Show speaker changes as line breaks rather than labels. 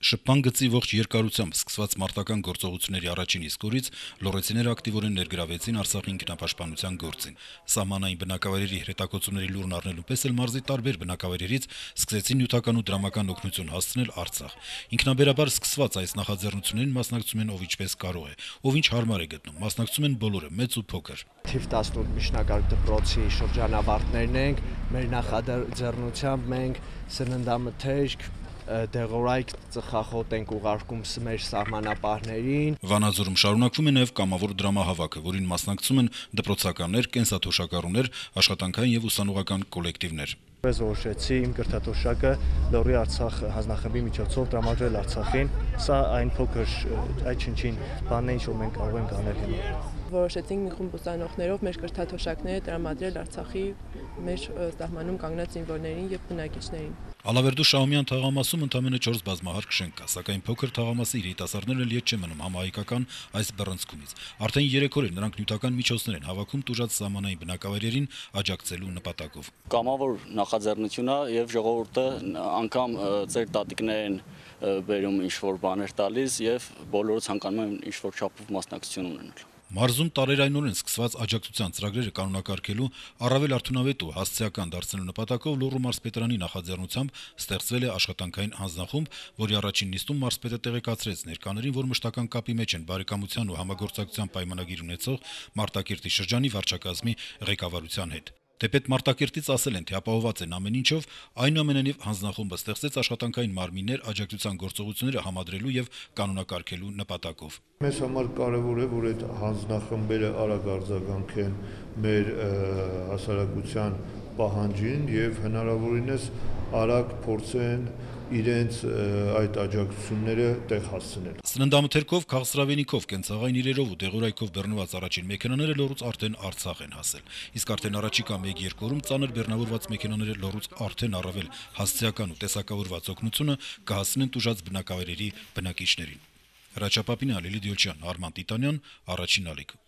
Շփման գծի ողջ երկարությամբ սկսված մարտական գործողությունների առաջին իսկ օրից լոռեցիները ակտիվորեն ներգրավեցին Արցախի ինքնապաշտպանության գործին։ Սահմանային բնակավայրերի հրետակոծումների լուրն առնելու պես էլ մարզի տարբեր բնակավայրերից սկսեցին նյութական ու դրամական օգնություն հասցնել Արցախ։ Ինքնաբերաբար սկսված այս նախաձեռնություններին մասնակցում են ով ինչպես կարող է, ով ինչ հարմար է գտնում, մասնակցում են բոլորը, մեծ ու փոքր։
Թիվ 18 միջնակարգ դպրոցի շրջանավարտներն ենք, մեր նախաձեռնությամբ մենք սննդամթերք դեղորայք ծխախոտ ենք ուղարկում մեր սահմանապահներին։
Վանաձորում շարունակվում է նաև կամավոր դրամահավաքը, որին մասնակցում են դպրոցականներ, կենսաթոշակառուներ, աշխատանքային եւ ուսանողական կոլեկտիվներ։
Ես որոշեցի իմ կրթաթոշակը Լոռի Արցախ հանձնախմբի միջոցով տրամադրել Արցախին։ Սա այն փոքր այդ չնչին բանն է, ինչ որ մենք կարող ենք անել հիմա։
Որոշեցինք մի խումբ ուսանողներով մեր կրթաթոշակները տրամադրել Արցախի մեր սահմանում կանգնած զինվորներին եւ բնակիչներին։
Ալավերդու Շահումյան թաղամասում ընդամենը 4 բազմահարկ շենք կա, սակայն փոքր թաղամասի երիտասարդներն էլ ետ չեն մնում համահայկական այս բռնցքումից։ Արդեն 3 օր է նրանք նյութական միջոցներ են հավաքում տուժած սահմանային բնակավայրերին աջակցելու նպատակով։
Կամավոր նախաձեռնություն է եւ ժողովուրդը անգամ ծեր տատիկներին բերում ինչ-որ բաներ տալիս եւ բոլորը ցանկանում են ինչ-որ չափով մասնակցություն ունենալ։
Մարզում տարերայնորեն սկսված աջակցության ծրագրերը կանոնակարգելու առավել արդյունավետ ու հասցեական դարձնելու նպատակով Լոռու մարզպետարանի նախաձեռնությամբ ստեղծվել է աշխատանքային հանձնախումբ, որի առաջին նիստում մարզպետը տեղեկացրեց ներկաներին, որ մշտական կապի մեջ են բարեկամության ու համագործակցության պայմանագիր ունեցող Մարտակերտի շրջանի վարչակազմի ղեկավարության հետ։ Թեպետ Մարտակերտից ասել են, թե ապահովված են ամեն ինչով, այնուամենայնիվ հանձնախումբը ստեղծեց աշխատանքային մարմիններ աջակցության գործողությունները համադրելու եւ կանոնակարգելու նպատակով։
Մեզ համար կարևոր է, որ այդ հանձնախմբերը արագ արձագանքեն մեր հասարակության պահանջին եւ հնարավորինս արագ փորձեն իրենց այդ աջակցությունները տեղ հասցնել։
Սննդամթերքով, քաղցրավենիքով, կենցաղային իրերով ու դեղորայքով բռնված առաջին մեքենաները Լոռուց արդեն Արցախ են հասել։ Իսկ արդեն առաջիկա 1-2 օրում ծանր բեռնավորված մեքենաները Լոռուց արդեն առավել հասցեական ու տեսակավորված օգնությունը կհասցնեն տուժած բնակավայրերի բնակիչներին։ Հրաչապապինյան, Լիլիթ Յոլչյան, Արման Տիտանյան, Առաջին ալիք։